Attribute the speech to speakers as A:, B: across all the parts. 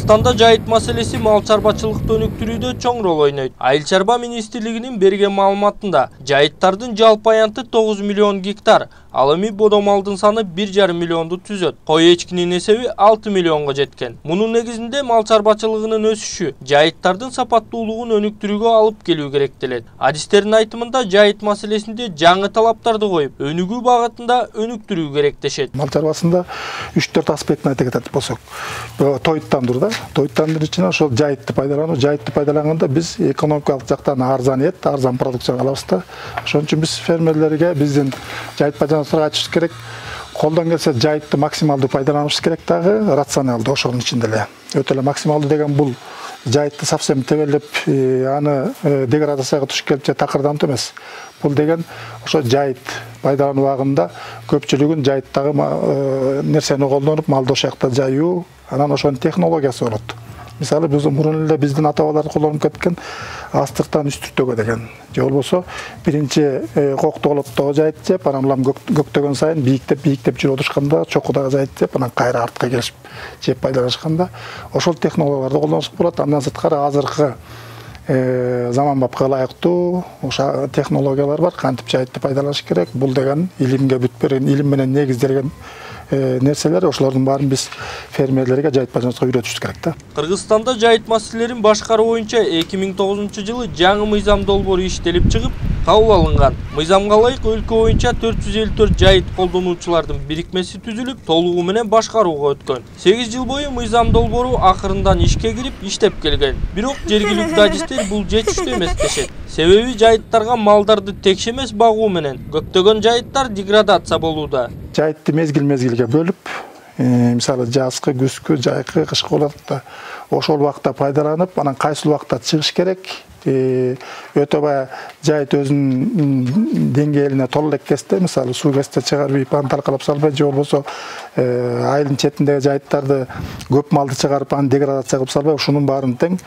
A: Кыргызстанда жайыт маселеси мал чарбачылыкты өнүктүрүүдө чоң рол ойнойт. Айыл чарба министрлигинин берген маалыматында жайыттардын жалпы аянты 9 миллион гектар, ал эми бодо малдын саны 1,5 миллионду түзөт. Кой эчкинин эсеби 6 миллионго жеткен. Мунун негизинде мал чарбачылыгынын өсүшү жайыттардын сапаттуулугун өнүктүрүүгө алып келүү керектелет. Адистердин айтымында жайыт маселесинде жаңы талаптарды коюп, өнүгүү багытында өнүктүрүү керектешет.
B: Мал чарбасында 3-4 аспектин айта кетет болсок, тоюттандыруу да, тоюттандыруу ичинен ошол жайытты пайдаланганда биз экономикалык жактан арзан продукцияны алабыз да. Ошон үчүн биз фермерлерге, биздин жайыт пайдалануучуларга айтышыбыз керек. Колдон келсе жайытты максималдуу пайдаланышыбыз керек дагы, рационалдуу ошонун ичинде эле. Өтө эле максималдуу деген бул жайытты совсем тебелеп, аны деградацияга туш келип же такырдантуу эмес. Бул деген ошо жайыт пайдалануу убагында көпчүлүгүн жайыттагы нерсени колдонуп, малды ошол жакта жайуу, анан ошонун технологиясы болот. Мисалы биз мурун эле биздин ата-бабалар колдонуп кеткен астыктан үстүртөгө деген. Же болбосо биринчи кокту олоттогу жайыт жеп, анан улам көктөгөн сайын бийиктеп жүрүп отурушканда чокудагы жайыт жеп, анан кайра артка келишип жеп пайдаланышканда ошол технологияларды колдонушка болот. Андан сырткары азыркы заманбапка ылайыктуу ошо технологиялар бар, кантип жайытты пайдаланыш керек. Бул деген илимге бүт берген, илим менен негизделген нерселер, ошолордун баарын биз фермерлерге жайыт пайдаланышка үйрөтүшүбүз керек да.
A: Кыргызстанда жайыт маселелерин башкаруу боюнча 2009-жылы жаңы мыйзам долбоору иштелип чыгып, кабыл алынган. Мыйзамга ылайык өлкө боюнча 454 жайыт колдонуучулардын бирикмеси түзүлүп, толугу менен башкарууга өткөн. 8 жыл бою мыйзам долбоору акырындан ишке кирип, иштеп келген. Бирок жергиликтүү адистер бул жетиштүү эмес дешет. Себеби жайыттарга малдарды текше эмес багуу менен көптөгөн жайыттар деградация болууда.
B: Жайытты мезгил-мезгилге бөлүп, мисалы жазкы, күзгү, жайкы, кышкы болот да. Ошол убакта пайдаланып, анан кайсыл убакта чыгыш керек. Өтө бая жайыт өзүнүн деңгээлине толо элек кезде, мисалы суу кезде чыгарып, аны талкалап салбай, же болбосо айылдын четиндеги жайыттарды көп малды чыгарып, аны деградация кылып салбай, ушунун баарын тең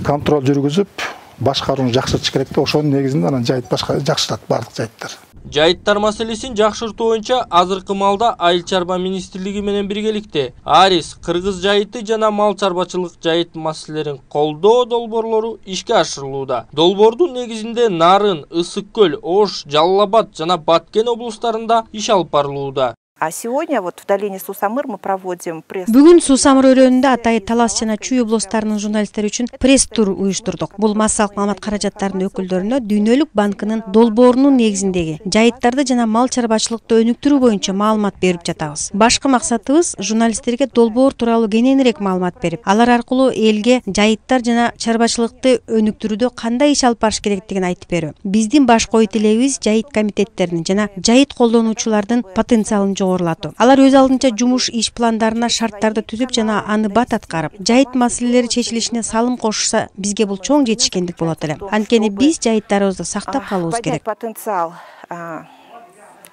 B: контроль жүргүзүп, башкарууну жакшыртыш керек да. Ошонун негизинде анан жайыт жакшырат бардык жайыттар.
A: Жайыттар маселесин жакшыртуу боюнча азыркы маалда Айыл чарба министрлиги менен биргеликте Арис, Кыргыз жайыты жана мал чарбачылык жайыт маселелерин колдоо долбоорлору ишке ашырылууда. Долбоордун негизинде Нарын, Ысык көл, Ош, Жалал Абад жана Баткен облустарында иш алып барылууда.
C: А сегодня вот в долине Сусамыр мы проводим пресс.
D: Бүгүн Сусамыр өрөөнүндө Атай, Талас жана Чүй облустарынын журналисттери үчүн пресс-тур уюштурдук. Бул массалык маалымат каражаттарынын өкүлдөрүнө Дүйнөлүк банкынын долбоорунун негизиндеги жайыттарды жана мал чарбачылыкты өнүктүрүү боюнча маалымат берип жатабыз. Башкы максатыбыз журналисттерге долбоор тууралуу кененирээк маалымат берип, алар аркылуу элге жайыттар жана чарбачылыкты өнүктүрүүдө кандай иш алып барыш керектигин айтып берүү. Биздин баш ой тилегибиз жайыт комитеттеринин жана жайыт колдонуучулардын потенциалын алар өз алдынча жумуш иш пландарына шарттарды түзүп жана аны бат аткарып, жайыт маселелери чечилишине салым кошушса, бизге бул чоң жетишкендик болот эле. Анткени биз жайыттарыбызды сактап калуубуз керек.
C: Потенциал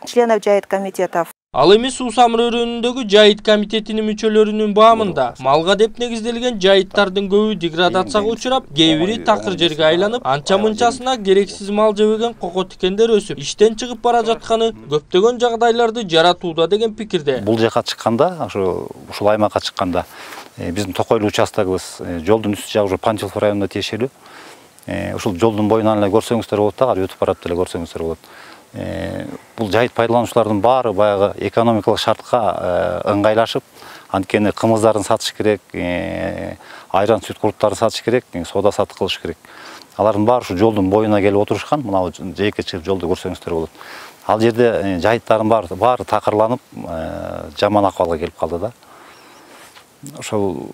C: членов жайыт комитетов.
A: Ал эми Сусамыр өрөөнүндөгү жайыт комитетинин мүчөлөрүнүн баамында малга деп негизделген жайыттардын көбү деградацияга учурап, кээ бири такыр жерге айланып, анча-мынчасына керексиз мал жебеген коко тикендер өсүп, иштен чыгып бара жатканы көптөгөн жагдайларды жаратууда деген пикирде.
E: Бул жака чыкканда, ушул аймакка чыкканда, биздин Токойлуу участогубуз жолдун үстү жагы Панчилов районуна тиешелүү. Ушул жолдун боюнан эле көрсөңүздөр болот да, өтүп барат эле көрсөңүздөр болот. Бул жайыт пайдалануучулардын баары баягы экономикалык шартка ыңгайлашып, анткени кымыздарын сатыш керек, айран сүт куруттарын сатыш керек, соода сатык кылыш керек. Алардын баары ушу жолдун боюна келип отурушкан, мына жээкке чыгып жолду көрсөңүздөр болот. Ал жерде жайыттардын баары такырланып, жаман акыбалга келип калды да. Ошол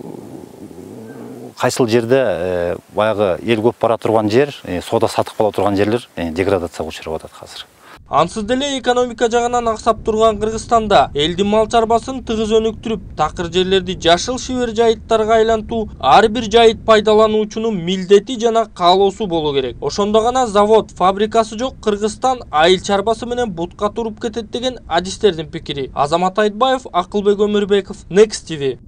E: кайсыл жерде баягы эл көп бара турган жер, соода сатык боло турган жерлер деградацияга учурап атат азыр.
A: Ансыз деле экономика жагынан аксап турган Кыргызстанда элдин мал чарбасын тыгыз өнүктүрүп, такыр жерлерди жашыл шибер жайыттарга айлантуу ар бир жайыт пайдалануучунун милдети жана каалоосу болуу керек. Ошондо гана завод, фабрикасы жок Кыргызстан айыл чарбасы менен бутка туруп кетет деген адистердин пикири. Азамат Айтбаев, Акылбек Өмүрбеков, Next TV.